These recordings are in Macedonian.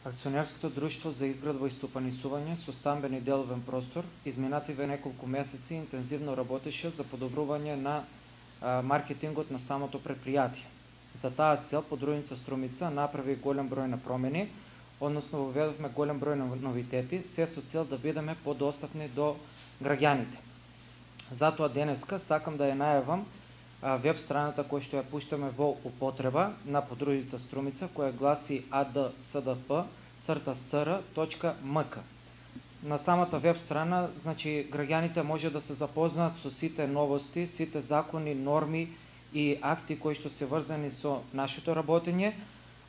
Акционерското друштво за изградба и стопанисување со стамбен и деловен простор изминативе неколку месеци интензивно работеше за подобрување на маркетингот на самото предпријатие. За таа цел Подружница Струмица направи голем број на промени, односно воведовме голем број на новитети, се со цел да бидеме подостапни до граѓаните. Затоа денеска сакам да ја најавам веб страната која што ја пуштаме во употреба на Подружница Струмица, која гласи adsdp-sr.mk. На самата веб страна, значи, граѓаните може да се запознаат со сите новости, сите закони, норми и акти кои што се врзани со нашето работење,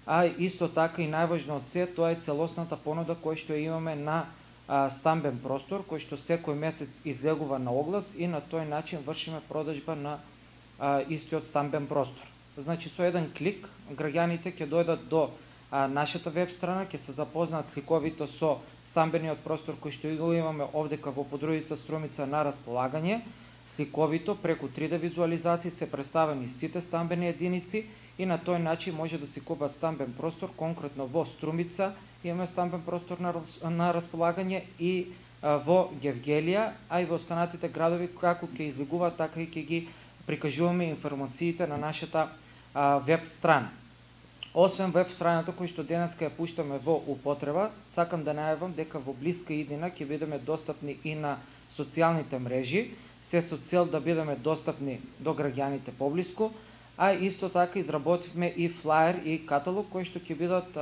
а исто така и најважно од се, тоа е целосната понуда која што имаме на стамбен простор, кој што секој месец излегува на оглас и на тој начин вршиме продажба на истиот стамбен простор. Значи, со еден клик, граѓаните ќе дојдат до нашата веб страна, ќе се запознаат сликовито со стамбениот простор кој што го имаме овдека во Подружница Струмица на располагање. Сликовито, преку 3D визуализации се представени сите стамбени единици и на тој начин може да си купат стамбен простор, конкретно во Струмица имаме стамбен простор на располагање и во Гевгелија, а и во останатите градови како ќе излегуваат, така и ќе ги прикажуваме информациите на нашата веб страна. Освен веб страната која што денеска ја пуштаме во употреба, сакам да најавам дека во блиска иднина ќе бидеме достапни и на социјалните мрежи, се со цел да бидеме достапни до граѓаните поблиску, а исто така изработивме и флаер и каталог кои што ќе бидат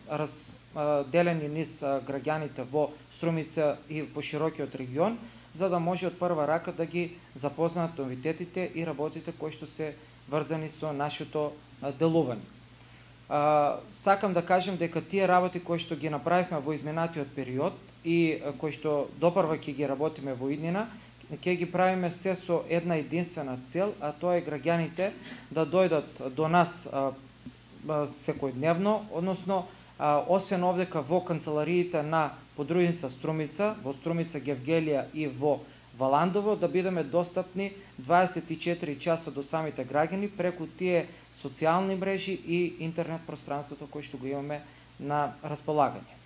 разделени низ граѓаните во Струмица и по широкиот регион, за да може од прва рака да ги запознаат новитетите и работите кои што се врзани со нашето делување. Сакам да кажем дека тие работи кои што ги направивме во изминатиот период и кои што допрва ќе ги работиме во иднина, ќе ги правиме се со една единствена цел, а тоа е граѓаните да дојдат до нас секојдневно, односно освен овдека во канцелариите на Подружница Струмица, во Струмица, Гевгелија и во Валандово, да бидеме достапни 24 часа до самите граѓани преку тие социјални мрежи и интернет пространството кој што го имаме на располагање.